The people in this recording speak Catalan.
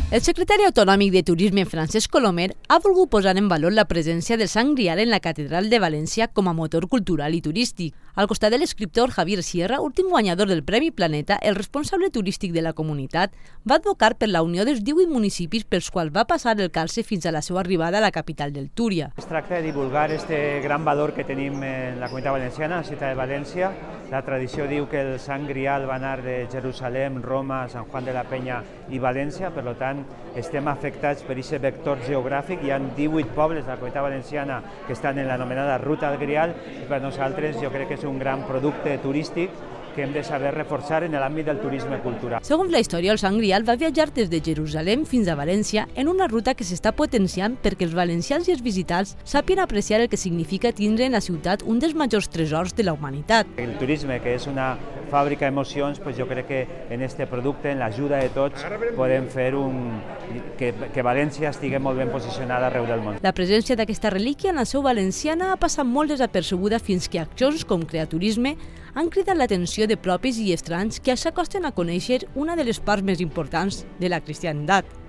El secretari autonòmic de Turisme, Francesc Colomer, ha volgut posar en valor la presència del Sant Grial en la Catedral de València com a motor cultural i turístic. Al costat de l'escriptor Javier Sierra, últim guanyador del Premi Planeta, el responsable turístic de la comunitat va advocar per la unió dels 18 municipis pels quals va passar el calze fins a la seva arribada a la capital del Túria. Es tracta de divulgar este gran valor que tenim en la comunitat valenciana, la ciutat de València. La tradició diu que el Sant Grial va anar de Jerusalem, Roma, Sant Juan de la Peña i València, per tant estem afectats per aquest vector geogràfic. Hi ha 18 pobles de la comunitat valenciana que estan en l'anomenada Ruta del Grial i per nosaltres jo crec que és un gran producte turístic que hem de saber reforçar en l'àmbit del turisme cultural. Segons la història, el Sant Grial va viatjar des de Jerusalem fins a València en una ruta que s'està potenciant perquè els valencians i els visitants sàpien apreciar el que significa tindre en la ciutat un dels majors tresors de la humanitat. El turisme, que és una fàbrica d'emocions, jo crec que en aquest producte, en l'ajuda de tots, podem fer que València estigui molt ben posicionada arreu del món. La presència d'aquesta relíquia en la seu valenciana ha passat molt desapercebuda fins que accions com Creaturisme han cridat l'atenció de propis i estranys que s'acosten a conèixer una de les parts més importants de la cristiandat.